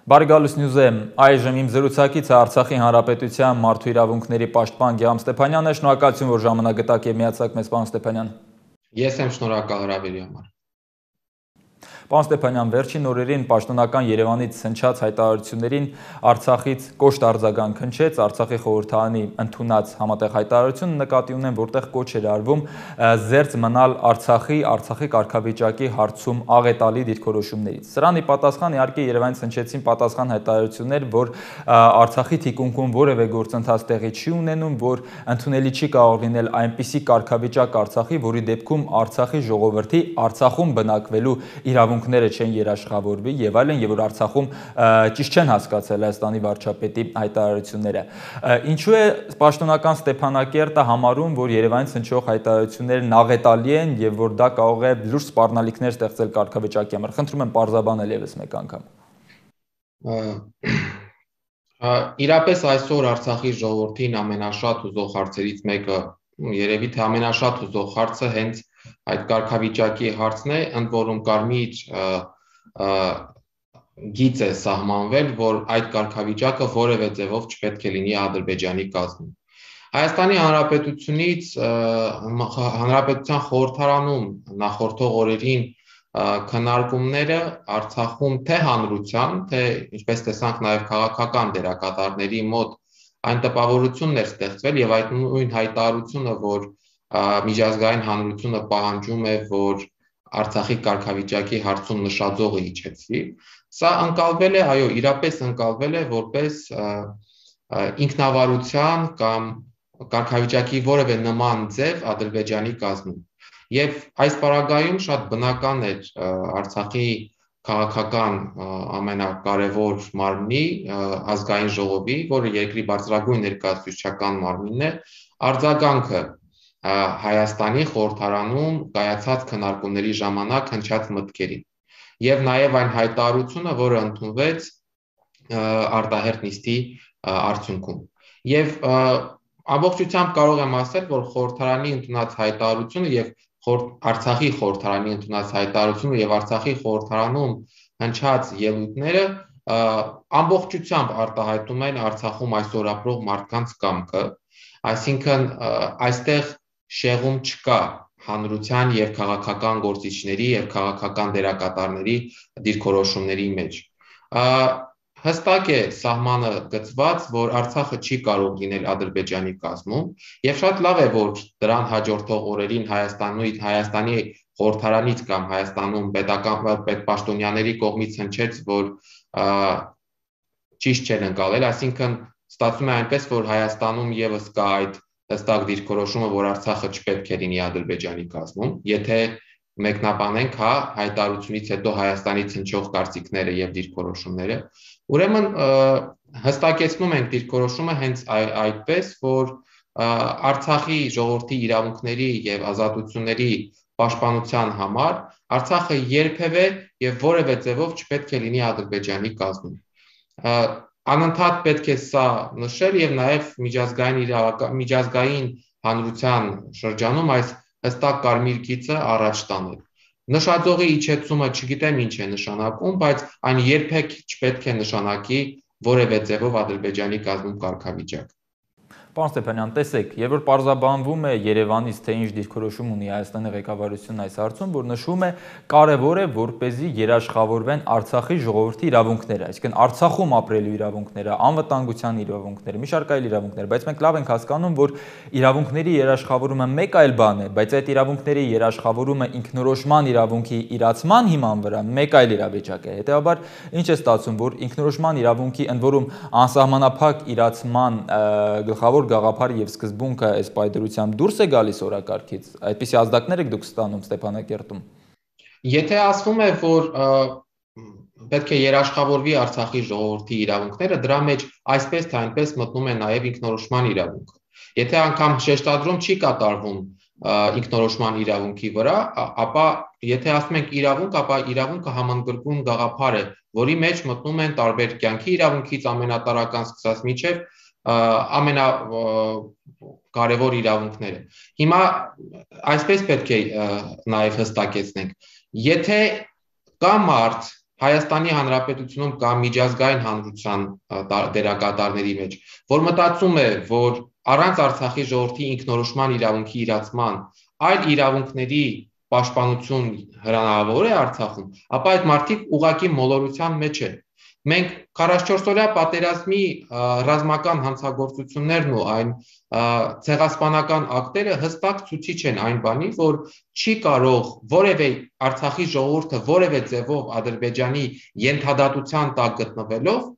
Բարեկալուս Նյուզը այժմ իմ զրուցակիցը Արցախի Հանրապետության մարդու իրավունքների պաշտպան Գեամ Ստեփանյանն է, շնորհակալություն, որ ժամանակ գտաք եւ միացաք մեզ, պարոն Ստեփանյան։ Ես եմ շնորհակալ հրավերի համար։ Պարոն Ստեփանյան, վերջին օրերին պաշտոնական Երևանից հնչած հայտարարություններին Արցախից կոշտ արձագանք հնչեց, Արցախի խորհրդարանի ընդունած համատեղ հայտարարությունը նկատի ունեն, որտեղ կոչ էր արվում զերծ մնալ Արցախի կարգավիճակի հարցում աղետալի դիրքորոշումներից։ Սրան ի պատասխան իհարկե Երևանից հնչեցին պատասխան հայտարարություններ, որ Արցախի թիկունքում որևէ գործընթաց տեղի չի ունենում, որ ընդունելի չի կարող լինել այնպիսի կարգավիճակ Արցախի, որի դեպքում Արցախի ժողովրդի Արցախում բնակվելու իրավունքները չեն երաշխավորվի եւ այլն, եւ որ Արցախում ճիշտ չեն հասկացել Հայաստանի վարչապետի հայտարարությունները։ Ինչու է պաշտոնական Ստեփանակերտը համարում, որ Երևանից հնչող հայտարարություններն աղետալի են եւ որ դա կարող է լուրջ սպառնալիքներ ստեղծել կարգավիճակի համար։ Խնդրում եմ պարզաբանել եւս մեկ անգամ։ Իրապես այսօր Արցախի ժողովրդին ամենաշատ հուզող հարցերից մեկը, երևի թե ամենաշատ հուզող հարցը հենց այդ կարգավիճակի հարցն է, ընդ որում կարմիր գիծ է սահմանվել, որ այդ կարգավիճակը որևէ ձևով չպետք է լինի Ադրբեջանի կազմում։ Հայաստանի Հանրապետությունից Հանրապետության խորհրդարանում նախորդող օրերին քննարկումները Արցախում թե հանրության, թե ինչպես տեսանք նաև քաղաքական դերակատարների մոտ այն տպավորությունն էր ստեղծվել եւ այդ նույն հայտարարությունը, որ միջազգային հանրությունը պահանջում է, որ Արցախի կարգավիճակի հարցում նշաձողը իջեցվի, սա ընկալվել է, այո, իրապես ընկալվել է որպես ինքնավարության կամ կարգավիճակի որևէ նման ձև Ադրբեջանի կազմում։ Եվ այս պարագայում շատ բնական էր Արցախի քաղաքական ամենակարևոր մարմնի ազգային ժողովի, որը երկրի բարձրագույն ներկայացուցչական մարմինն է, արձագանքը Հայաստանի խորհրդարանում կայացած քննարկումների ժամանակ հնչած մտքերին եւ նաեւ այն հայտարարությունը, որը ընդունվեց արտահերթ նիստի արդյունքում։ Եվ ամբողջությամբ կարող եմ ասել, որ խորհրդարանի ընդունած հայտարարությունը եւ Արցախի խորհրդարանի ընդունած հայտարարությունը եւ Արցախի խորհրդարանում հնչած ելույթները ամբողջությամբ արտահայտում են Արցախում այսօր ապրող մարդկանց կամքը, այսինքն այստեղ շեղում չկա հանրության եւ քաղաքական գործիչների եւ քաղաքական դերակատարների դիրքորոշումների մեջ։ Հստակ է սահմանը գծված, որ Արցախը չի կարող լինել Ադրբեջանի կազմում եւ շատ լավ է, որ դրան հաջորդող օրերին Հայաստանի խորհրդարանից կամ Հայաստանում պետպաշտոնյաների կողմից հնչեց, որ ճիշտ չեն ընկալել, այսինքն ստացվում է այնպես, որ Հայաստանում եւս կա այդ հստակ դիրքորոշումը, որ Արցախը չպետք է լինի Ադրբեջանի կազմում, եթե մեկնաբանենք հայտարարությունից հետո Հայաստանից հնչող կարծիքները եւ դիրքորոշումները, ուրեմն հստակեցնում ենք դիրքորոշումը հենց այդպես, որ Արցախի ժողովրդի իրավունքների եւ ազատությունների պաշտպանության համար Արցախը երբևէ եւ որևէ ձևով չպետք է լինի Ադրբեջանի կազմում։ Անընդհատ պետք է սա նշել եւ նաեւ միջազգային հանրության շրջանում այս հստակ կարմիր գիծը առաջ տանել։ Նշաձողի իջեցումը չգիտեմ ինչ է նշանակում, բայց այն երբեք չպետք է նշանակի որևէ ձևով Ադրբեջանի կազմում կարգավիճակ։ Պարոն Ստեփանյան, տեսեք, երբ որ պարզաբանվում է Երևանից, թե ինչ դիրքորոշում ունի Հայաստանի ղեկավարությունն այս հարցում, որ նշվում է կարևոր է, որպեսզի երաշխավորվեն Արցախի ժողովրդի իրավունքները, այսինքն Արցախում ապրելու իրավունքները, անվտանգության իրավունքները, մի շարք այլ իրավունքներ, բայց մենք լավ ենք հասկանում, որ իրավունքների երաշխավորումը մեկ այլ բան է, բայց այդ իրավունքների երաշխավորումը ինքնորոշման իրավունքի իրացման հիման վրա մեկ այլ իրավիճակ է։ Հետևաբար, ինչ է ստացվում, որ ինքնորոշման իրավունքի ընդ որում անսահմանափակ իրացման գլխավոր գաղափարը եւ սկզբունքը այս պայդրությամբ դուրս է գալիս օրակարգից, այդպիսի ազդակներ եք դուք ստանում Ստեփանակերտում։ Եթե ասվում է, որ պետք է երաշխավորվի Արցախի ժողովրդի իրավունքները, դրա մեջ այսպես թե այնպես մտնում է նաեւ ինքնորոշման իրավունքը։ Եթե անգամ շեշտադրում չի կատարվում ինքնորոշման իրավունքի վրա, ապա եթե ասում ենք իրավունք, ապա իրավունքը համընդգրկուն գաղափար է, որի մեջ մտնում են տարբեր կյանքի իրավունքից ամենատարրական սկսած մինչև ամենակարևոր իրավունքները։ Հիմա այսպես պետք է նաև հստակեցնենք, եթե կա մարդ Հայաստանի Հանրապետությունում կամ միջազգային հանրության դերակատարների մեջ, որ մտածում է, որ առանց Արցախի ժողովրդի ինքնորոշման իրավունքի իրացման այլ իրավունքների պաշտպանություն հնարավոր է Արցախում, ապա այդ մարդիկ ուղղակի մոլորության մեջ են։ Մենք 44-օրյա պատերազմի ռազմական հանցագործություններն ու այն ցեղասպանական ակտերը հստակ ցուցիչ են այն բանի, որ չի կարող որևէ Արցախի ժողովուրդը որևէ ձևով Ադրբեջանի ենթադատության տակ գտնվելով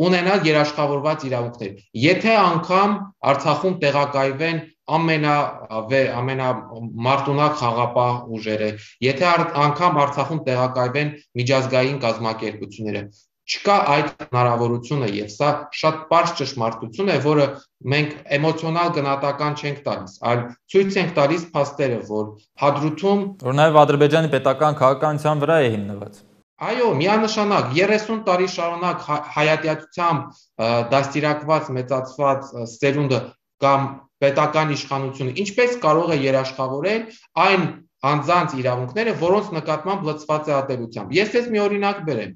ունենալ երաշխավորված իրավունքներ։ Եթե անգամ Արցախում տեղակայվեն ամենամարտունակ խաղապահ ուժերը, եթե անգամ Արցախում տեղակայվեն միջազգային կազմակերպությունները, չկա այդ հնարավորությունը եւ սա շատ պարզ ճշմարտություն է, որը մենք էմոցիոնալ գնահատական չենք տալիս, այլ ցույց ենք տալիս փաստերը, որ Հադրութում որ նաեւ Ադրբեջանի պետական քաղաքականության վրա է հիմնված։ Այո, միանշանակ 30 տարի շարունակ հայատյացությամբ դաստիարակված մեծացված սերունդը կամ պետական իշխանությունը ինչպես կարող է երաշխավորել այն անձանց իրավունքները, որոնց նկատմամբ լծված է ատելությամբ։ Ես մի օրինակ բերեմ։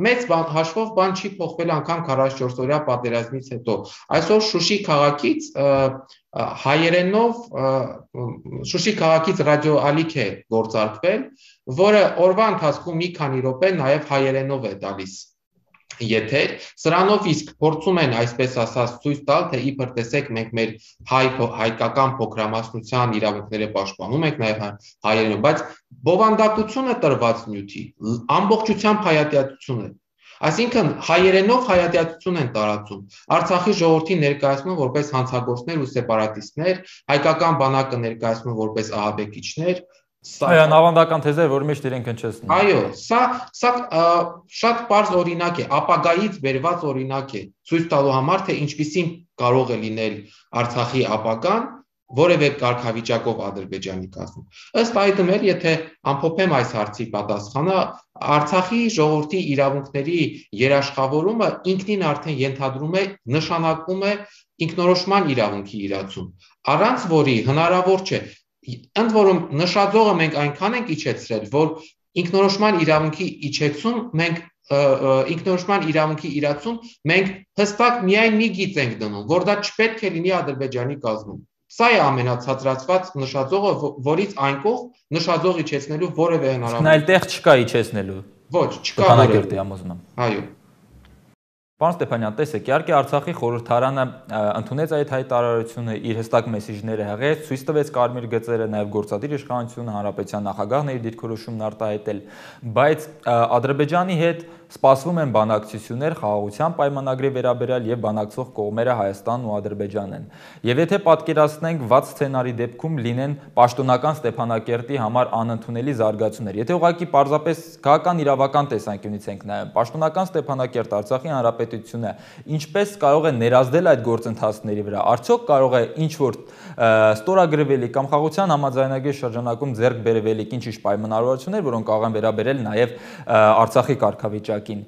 Մեծ հաշվով բան չի փոխվել անգամ 44-օրյա պատերազմից հետո։ Այսօր Շուշի քաղաքից հայերենով Շուշի քաղաքից ռադիոալիք է գործարկվել, որը օրվա ընթացքում մի քանի րոպե նաև հայերենով է տալիս եթեր, սրանով իսկ փորձում են այսպես ասած ցույց տալ, թե իբր տեսեք մենք մեր հայկական փոքրամասնության իրավունքները պաշտպանում ենք նաև հայերենով, բայց բովանդակությունը տրված նյութի ամբողջությամբ հայատյացություն է։ Այսինքն հայերենով հայատյացություն են տարածում, Արցախի ժողովրդին ներկայացնում որպես հանցագործներ ու սեպարատիստներ, հայկական բանակը ներկայացնում որպես ահաբեկիչներ։ Այն ավանդական թեզ է, որ միշտ իրենք հնչեցնում։ Այո, սա շատ պարզ օրինակ է, ապագայից բերված օրինակ է, ցույց տալու համար, թե ինչպիսին կարող է լինել Արցախի ապագան որևէ կարգավիճակով Ադրբեջանի կազմում։ Ըստ այդմ էլ, եթե ամփոփեմ այս հարցի պատասխանը, Արցախի ժողովրդի իրավունքների երաշխավորումը ինքնին արդեն ենթադրում է, նշանակում է ինքնորոշման իրավունքի իրացում, առանց որի հնարավոր չէ։ Ընդ որում նշաձողը մենք այնքան ենք իջեցրել, որ ինքնորոշման իրավունքի իջեցում ինքնորոշման իրավունքի իրացում մենք հստակ միայն մի գիծ ենք դնում, որ դա չպետք է լինի Ադրբեջանի կազմում։ Սա է ամենացածրացված նշաձողը, որից այն կողմ նշաձող իջեցնելու որևէ հնարավորություն։ Այլ տեղ չկա իջեցնելու։ Ոչ, չկա որևէ համոզում։ Այո։ Պարոն Ստեփանյան, տեսեք, իհարկե Արցախի խորհրդարանը ընդունեց այդ հայտարարությունը, իր հստակ մեսիջները հղեց, ցույց տվեց կարմիր գծերը, նաև գործադիր իշխանությունը, հանրապետության նախագահն իր դիրքորոշումն արտահայտել, բայց Ադրբեջանի հետ սպասվում են բանակցություններ խաղաղության պայմանագրի վերաբերյալ եւ բանակցող կողմերը Հայաստանն ու Ադրբեջանն են։ Եվ եթե պատկերացնենք վատ սցենարի դեպքում լինեն պաշտոնական Ստեփանակերտի համար անընդունելի զարգացումներ, եթե ուղղակի պարզապես քաղաքական իրավական տեսանկյունից ենք նայում, պաշտոնական Ստեփանակերտ Արցախի հանրապետությունը ինչպես կարող է ներազդել այդ գործընթացների վրա, արդյոք կարող է ինչ-որ ստորագրվելիք կամ խաղաղության համաձայնագրի շրջանակում ձեռք բերվելիք ինչ-ինչ պայմանավորվածություններ, որոնք կարող են վերաբերել նաև Արցախի կարգավիճակին,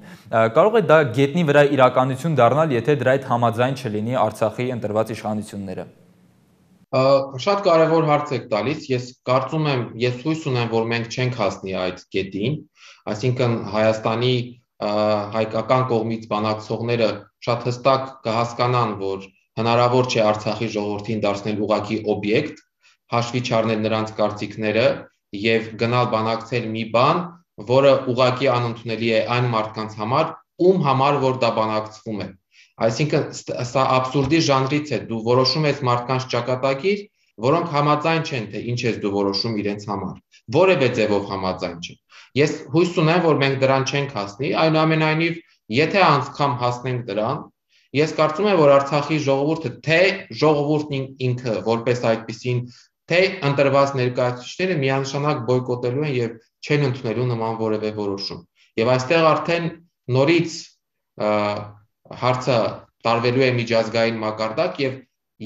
կարող է դա գետնի վրա իրականություն դառնալ, եթե դրա այդ համաձայն չլինի Արցախի ընտրված իշխանությունները։ Շատ կարևոր հարց եք տալիս, ես հույս ունեմ, որ մենք չենք հասնի այդ կետին, այսինքն Հայաստանի հայկական կողմից բանակցողները շատ հստակ կհասկանան, որ հնարավոր չէ Արցախի ժողովրդին դարձնել ուղղակի օբյեկտ, հաշվի չառնել նրանց կարծիքները եւ գնալ բանակցել մի բան, որը ուղղակի անընդունելի է այն մարդկանց համար, ում համար որ դա բանակցվում է։ Այսինքն սա աբսուրդի ժանրից է, դու որոշում ես մարդկանց ճակատագիր, որոնք համաձայն չեն, թե ինչ ես դու որոշում իրենց համար, որևէ ձևով համաձայն չեն։ Ես հույս ունեմ, որ մենք դրան չենք հասնի, այնուամենայնիվ, եթե անգամ հասնենք դրան, ես կարծում եմ, որ Արցախի ժողովուրդը, թե ժողովուրդն ինքը որպես այդպիսին, թե ընտրված ներկայացուցիչները միանշանակ բոյկոտելու են եւ չեն ընդունելու նման որևէ որոշում։ Եվ այստեղ արդեն նորից հարցը տարվելու է միջազգային մակարդակ եւ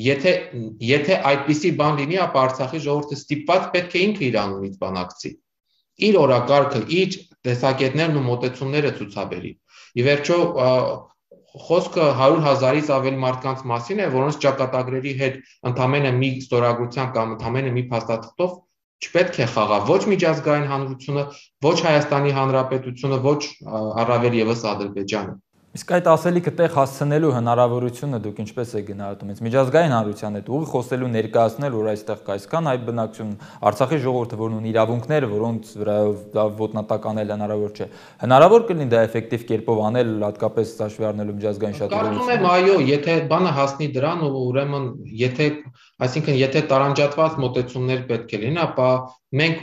եթե այդպիսի բան լինի, ապա Արցախի ժողովուրդը ստիպված պետք է ինքը իր անունից բանակցի։ Իր օրակարգը, իր տեսակետներն ու մոտեցումները ցուցաբերի։ Ի վերջո խոսքը 100,000-ից ավելի մարդկանց մասին է, որոնց ճակատագրերի հետ ընդամենը մի ստորագրությամբ կամ ընդամենը մի փաստաթղթով չպետք է խաղա ոչ միջազգային հանրությունը, ոչ Հայաստանի Հանրապետությունը, ոչ առավել եւս Ադրբեջանը։ Իսկ այդ ասելիքը տեղ հասցնելու հնարավորությունը դուք ինչպես եք գնահատում։ Այս միջազգային հանրության հետ ուղիղ խոսելու ներկայացնել, որ այստեղ կայսքան այդ բնակչություն, Արցախի ժողովուրդը, որն ունի իրավունքներ, որոնց վրայով ոտնատակ անել հնարավոր չէ։ Հնարավոր կլինի դա էֆեկտիվ կերպով անել, հատկապես հաշվի առնելով միջազգային շահերից։ Կարծում եմ, այո, եթե բանը հասնի դրան, ուրեմն եթե տարանջատված մոտեցումներ պետք է լինեն, ապա մենք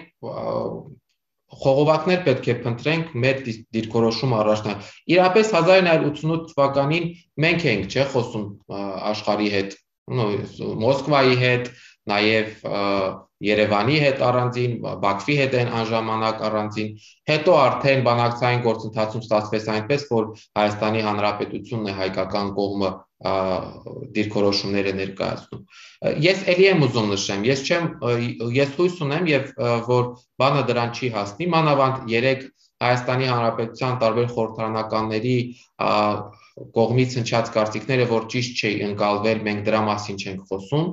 խողովակներ պետք է փնտրենք մեր դիրքորոշում առաջնալ։ Իրապես 1988 թվականին մենք էինք, չէ, խոսում աշխարհի հետ, Մոսկվայի հետ, նաև Երևանի հետ առանձին, Բաքվի հետ այն ժամանակ առանձին, հետո արդեն բանակցային գործընթացում ստացվեց այնպես, որ Հայաստանի Հանրապետությունն է հայկական կողմը դիրքորոշումները ներկայացնում։ Ես ելի եմ ուզում նշեմ, ես հույս ունեմ եւ որ բանը դրան չի հասնի, մանավանդ 3 Հայաստանի Հանրապետության տարբեր խորհրդարանականների կողմից հնչած կարծիքները, որ ճիշտ չի ընկալվել, մենք դրա մասին չենք խոսում։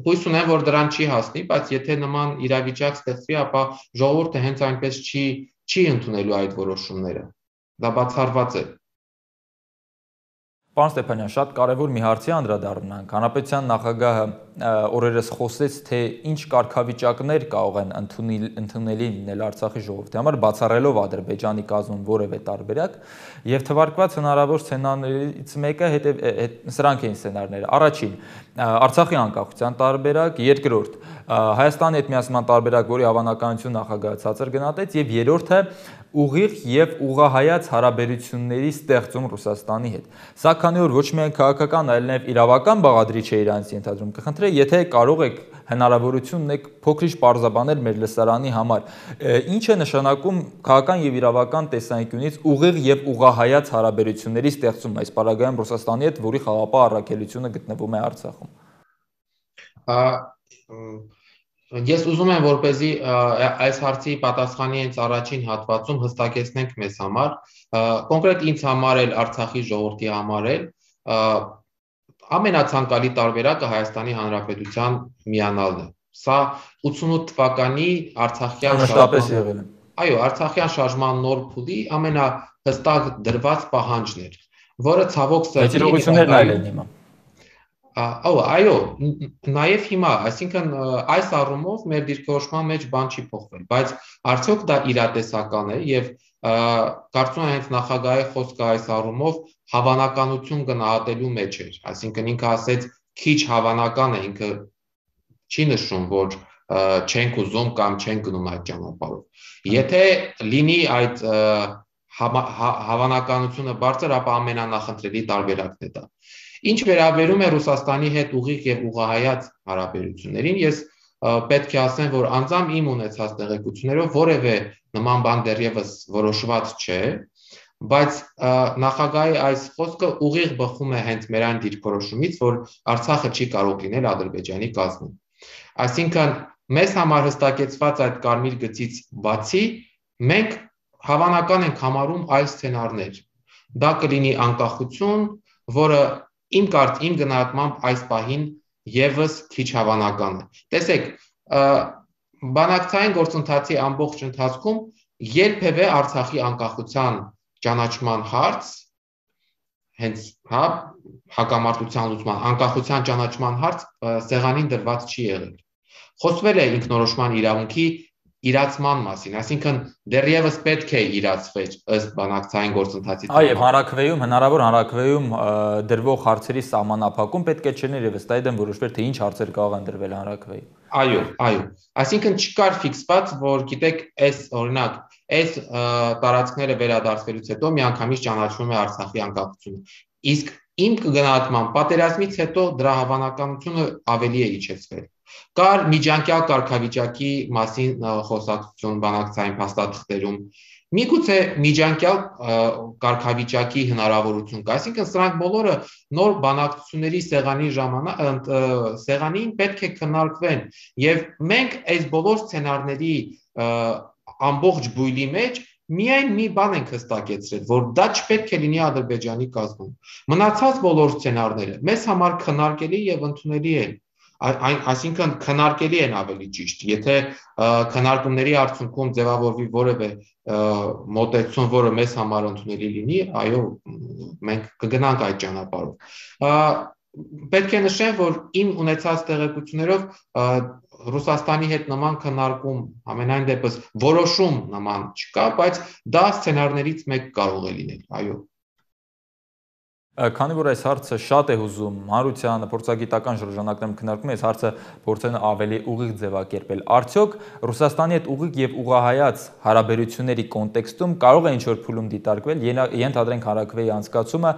Հույս ունեմ, որ դրան չի հասնի, բայց եթե նման իրավիճակ ստեղծվի, ապա ժողովուրդը հենց այնպես չի ընդունելու այդ որոշումները։ Դա բացառված է։ Պարոն Ստեփանյան, շատ կարևոր մի հարցի անդրադառնանք։ Հանրապետության նախագահը օրերս խոսեց, թե ինչ կարգավիճակներ կարող են ընդունելի լինել Արցախի ժողովրդի համար, բացառելով Ադրբեջանի կազմում որևէ տարբերակ, եւ թվարկված հնարավոր սցենարներից մեկը սրանք էին սցենարները։ Առաջին, Արցախի անկախության տարբերակ, երկրորդ, Հայաստանի հետ միասնման տարբերակ, որի հավանականություն նախագահը ցածր գնահատեց, եւ երրորդը ուղիղ եւ ուղղահայաց հարաբերությունների ստեղծում Ռուսաստանի հետ։ Սա քանի որ ոչ միայն քաղաքական, այլ նաեւ իրավական բաղադրիչ է իրանց ենթադրում, կխնդրեի, եթե կարող եք հնարավորություն ունեք փոքրիչ պարզաբանել մեր լսարանի համար, ինչ է նշանակում քաղաքական եւ իրավական տեսանկյունից ուղիղ եւ ուղղահայաց հարաբերությունների ստեղծում այս պարագայում Ռուսաստանի հետ, որի խաղաղապահ առաքելությունը գտնվում է Արցախում։ Ես ուզում եմ, որպեսզի այս հարցի պատասխանի հենց առաջին հատվածում հստակեցնենք մեզ համար, կոնկրետ ինձ համար էլ, Արցախի ժողովրդի համար էլ, ամենացանկալի տարբերակը Հայաստանի Հանրապետության միանալն է։ Սա 88 թվականի Արցախյան շարժման նոր փուլի ամենահստակ դրված պահանջն էր, որը ցավոք սրտի Այո, նաև հիմա, այսինքն այս առումով մեր դիրքորոշման մեջ բան չի փոխվել, բայց արդյոք դա իրատեսական է եւ կարծում եմ հենց նախագահի խոսքը այս առումով հավանականություն գնահատելու մեջ էր, այսինքն ինքը ասեց քիչ հավանական է, ինքը չի նշում, որ չենք ուզում կամ չենք գնում այդ ճանապարհով։ Եթե լինի այդ հավանականությունը բարձր, ապա ամենանախնդրելի տարբերակն է դա։ Ինչ վերաբերում է Ռուսաստանի հետ ուղիղ եւ ուղղահայաց հարաբերություններին, ես պետք է ասեմ, որ անձամբ իմ ունեցած տեղեկություններով որևէ նման բան դեռևս որոշված չէ, բայց նախագահի այս խոսքը ուղիղ բխում է հենց մեր այն դիրքորոշումից, որ Արցախը չի կարող լինել Ադրբեջանի կազմում։ Այսինքն մեզ համար հստակեցված այդ կարմիր գծից բացի մենք հավանական ենք համարում այլ սցենարներ։ Դա կլինի անկախություն, որը իմ գնահատմամբ այս պահին եւս քիչ հավանական է։ Տեսեք, բանակցային գործընթացի ամբողջ ընթացքում երբևէ Արցախի անկախության ճանաչման հարց, հենց հակամարտության լուծման անկախության ճանաչման հարց սեղանին դրված չի եղել։ Խոսվել է ինքնորոշման իրավունքի իրացման մասին, այսինքն դեռևս պետք է իրացվեր ըստ բանակցային գործընթացի։ Այո, հանրաքվեում, հնարավոր հանրաքվեում դրվող հարցերի սահմանափակում պետք է չլիներ եւ ըստ այդմ որոշվեր, թե ինչ հարցեր կարող են դրվել հանրաքվեում։ Այո, այսինքն չկար ֆիքսված, որ գիտեք, օրինակ, այս տարածքները վերադարձվելուց հետո միանգամից ճանաչվում է Արցախի անկախությունը։ Իսկ իմ գնահատմամբ պատերազմից հետո դրա հավանականությունը ավելի է իջեցվել։ Կար միջանկյալ կարգավիճակի մասին խոսակցություն բանակցային փաստաթղթերում։ Միգուցե միջանկյալ կարգավիճակի հնարավորություն կա, այսինքն սրանք բոլորը նոր բանակցությունների սեղանին պետք է քննարկվեն, եւ մենք այս բոլոր սցենարների ամբողջ բույլի մեջ միայն մի բան ենք հստակեցրել, որ դա չպետք է լինի Ադրբեջանի կազմում։ Մնացած բոլոր սցենարները մեզ համար քննարկելի եւ ընդունելի են։ Այսինքն քննարկելի են ավելի ճիշտ, եթե քննարկումների արդյունքում ձևավորվի որևէ մոտեցում, որը մեզ համար ընդունելի լինի, այո, մենք կգնանք այդ ճանապարհով։ Պետք է նշեմ, որ իմ ունեցած տեղեկություններով Ռուսաստանի հետ նման քննարկում, ամենայն դեպս որոշում նման չկա, բայց դա սցենարներից մեկ կարող է լինել, այո։ Քանի որ այս հարցը շատ է հուզում հանրությանը, փորձագիտական շրջանակներում քննարկում, այս հարցը փորձեն ավելի ուղիղ ձևակերպել։ Արդյոք Ռուսաստանի հետ ուղիղ եւ ուղղահայաց հարաբերությունների կոնտեքստում կարող է ինչ-որ փուլում դիտարկվել, ենթադրենք հանրաքվեի անցկացումը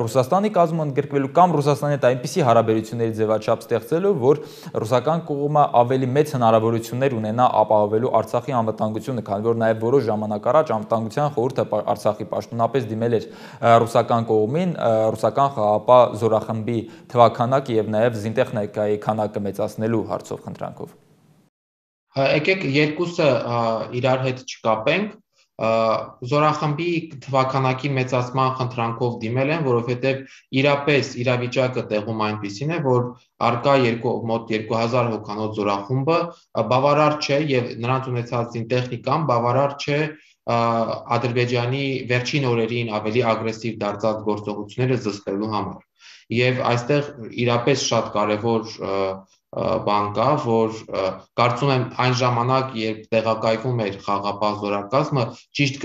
Ռուսաստանի կազմում ընդգրկվելու կամ Ռուսաստանի հետ այնպիսի հարաբերությունների ձևաչափ ստեղծելու, որ ռուսական կողմը ավելի մեծ հնարավորություններ ունենա ապահովելու Արցախի անվտանգությունը, քանի որ նաեւ որոշ ժամանակ առաջ Անվտանգության խորհուրդը Արցախի պաշտոնապես դիմել էր ռուսական կողմին ռուսական խաղաղապահ զորախմբի թվաքանակը եւ նաեւ զինտեխնիկայի քանակը մեծացնելու հարցով խնդրանքով։ Եկեք երկուսը իրար հետ չկապենք, զորախմբի թվաքանակի մեծացման խնդրանքով դիմել են, որովհետեւ իրապես իրավիճակը տեղում այնպիսին է, որ արկա մոտ 2000 հոգանոց զորախումբը բավարար չէ եւ նրանց ունեցած զինտեխնիկան բավարար չէ Ադրբեջանի վերջին օրերին ավելի ագրեսիվ դարձած գործողությունները զսպելու համար։ Եվ այստեղ իրապես շատ կարևոր բան կա, որ կարծում եմ այն ժամանակ, երբ տեղակայվում էր խաղաղապահ զորակազմը, ճիշտ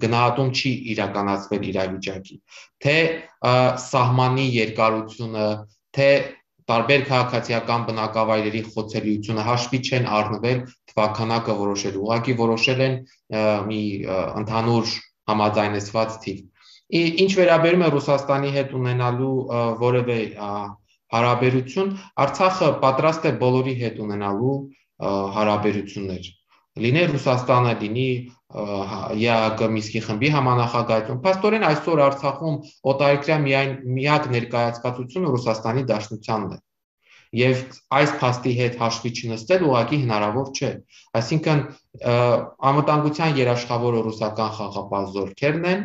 գնահատում չի իրականացվել իրավիճակի, թե սահմանի երկարությունը, թե տարբեր քաղաքացիական բնակավայրերի խոցելիությունը հաշվի չեն առնվել թվաքանակը որոշելու, ուղղակի որոշել են մի ընդհանուր համաձայնեցված թիվ։ Ինչ վերաբերում է Ռուսաստանի հետ ունենալու որևէ հարաբերություն, Արցախը պատրաստ է բոլորի հետ ունենալու հարաբերություններ։ Լինի Ռուսաստանը, լինի ԵԱՀԿ Մինսկի խմբի համանախագահություն։ Փաստորեն այսօր Արցախում օտարերկրյա միակ ներկայացվածությունը Ռուսաստանի Դաշնությանն է։ Եվ այս փաստի հետ հաշվի չնստել ուղղակի հնարավոր չէ։ Այսինքն անվտանգության երաշխավորը ռուսական խաղաղապահ զորքերն են,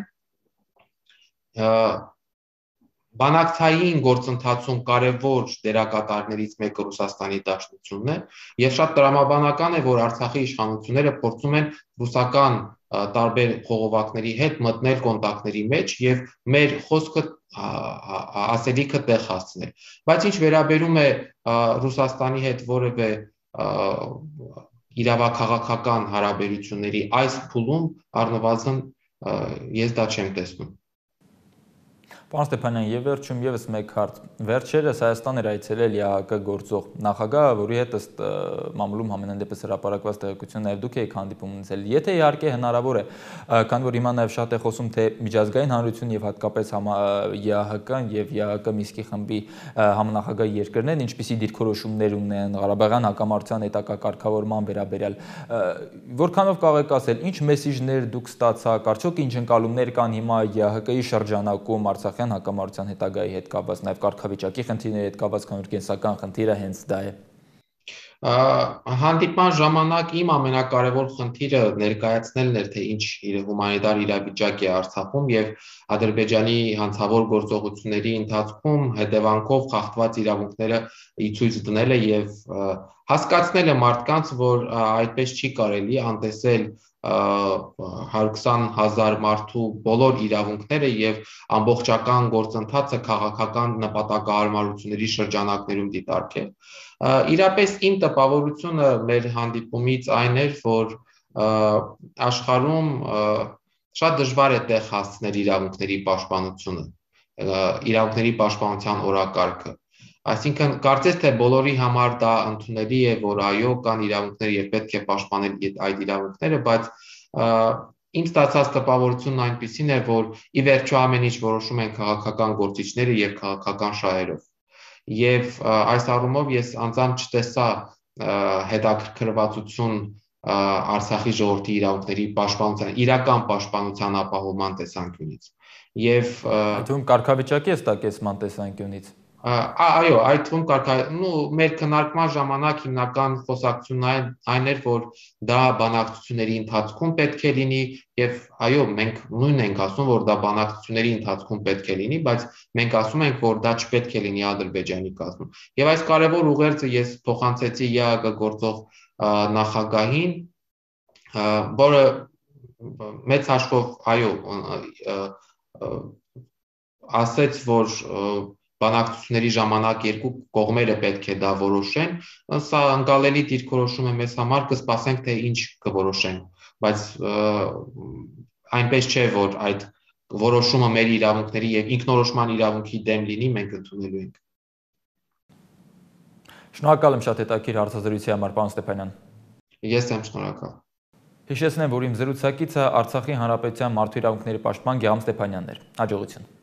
բանակցային գործընթացում կարևոր դերակատարներից մեկը Ռուսաստանի Դաշնությունն է, եւ շատ տրամաբանական է, որ Արցախի իշխանությունները փորձում են ռուսական տարբեր խողովակների հետ մտնել կոնտակտների մեջ եւ մեր խոսքը ասելիքը տեղ հասցնել։ Բայց ինչ վերաբերում է Ռուսաստանի հետ որևէ իրավաքաղաքական հարաբերությունների այս փուլում առնվազն ես դա չեմ տեսնում։ Պարոն Ստեփանյան, եւ վերջում եւս մեկ հարց։ Վերջերս Հայաստան էր այցելել ԵԱՀԿ գործող նախագահը, որի հետ ըստ մամուլում համենայն դեպս հրապարակված տեղեկություն նաեւ դուք եք հանդիպում ունեցել։ Եթե իհարկե հնարավոր է, քանի որ հիմա նաեւ շատ է խոսում թե միջազգային հանրություն եւ հատկապես ԵԱՀԿ-ն եւ ԵԱՀԿ Մինսկի խմբի համանախագահ երկրներն ինչպիսի դիրքորոշումներ ունեն Ղարաբաղյան հակամարտության հետագա կարգավորման վերաբերյալ, որքանով կարող եք ասել, ինչ մեսիջներ դուք ստացաք, արդյոք ինչ ընկալումներ կան հիմա ԵԱՀԿ-ի շրջանակում Արցախյան հակամարտության հետագայի հետ կապված, նաև կարգավիճակի խնդիրների հետ կապված, քանի որ կենսական խնդիրը հենց դա է։ Հանդիպման ժամանակ իմ ամենակարևոր խնդիրը ներկայացնելն էր, թե ինչ հումանիտար իրավիճակ է Արցախում եւ Ադրբեջանի հանցավոր գործողությունների ընթացքում հետևանքով խախտված իրավունքները ցույց դնելը եւ հասկացնելը մարդկանց, որ այդպես չի կարելի անտեսել 120,000 մարդու բոլոր իրավունքները եւ ամբողջական գործընթացը քաղաքական նպատակահարմարությունների շրջանակներում դիտարկել։ Իրապես իմ տպավորությունը մեր հանդիպումից այն էր, որ աշխարհում շատ դժվար է տեղ հասցնել իրավունքների պաշտպանությունը, իրավունքների պաշտպանության օրակարգը։ Այսինքն կարծես թե բոլորի համար դա ընդունելի է, որ այո, կան իրավունքներ եւ պետք է պաշտպանել այդ իրավունքները, բայց իմ ստացած տպավորությունն այնպիսին է, որ ի վերջո ամեն ինչ որոշում են քաղաքական գործիչները եւ քաղաքական շահերով։ Եվ այս առումով ես անձամբ չտեսա հետաքրքրվածություն Արցախի ժողովրդի իրավունքների պաշտպանության, իրական պաշտպանության ապահովման տեսանկյունից։ Եվ այդում կարգավիճակի է ստակեցման տեսանկյունից։ Այո, այդ թվում մեր քննարկման ժամանակ հիմնական խոսակցությունն այն էր, որ դա բանակցությունների ընթացքում պետք է լինի եւ այո, մենք նույնն ենք ասում, որ դա բանակցությունների ընթացքում պետք է լինի, բայց մենք ասում ենք, որ դա չպետք է լինի Ադրբեջանի կազմում։ Եվ այս կարևոր ուղերձը ես փոխանցեցի ԵԱՀԿ գործող նախագահին, որը մեծ հաշվով այո ասեց, որ բանակցությունների ժամանակ երկու կողմերը պետք է դա որոշեն, սա ընկալելի դիրքորոշում է մեզ համար, կսպասենք թե ինչ կորոշեն, բայց այնպես չէ, որ այդ որոշումը մեր իրավունքների եւ ինքնորոշման իրավունքի դեմ լինի, մենք ընդունելու ենք։ Շնորհակալ եմ շատ հետաքրքիր հարցազրույցի համար, պարոն Ստեփանյան։ Ես եմ շնորհակալ։ Հիշեցնեմ, որ իմ զրուցակիցը Արցախի Հանրապետության մարդու իրավունքների պաշտպան Գեհամ Ստեփանյանն էր։ Հաջողություն։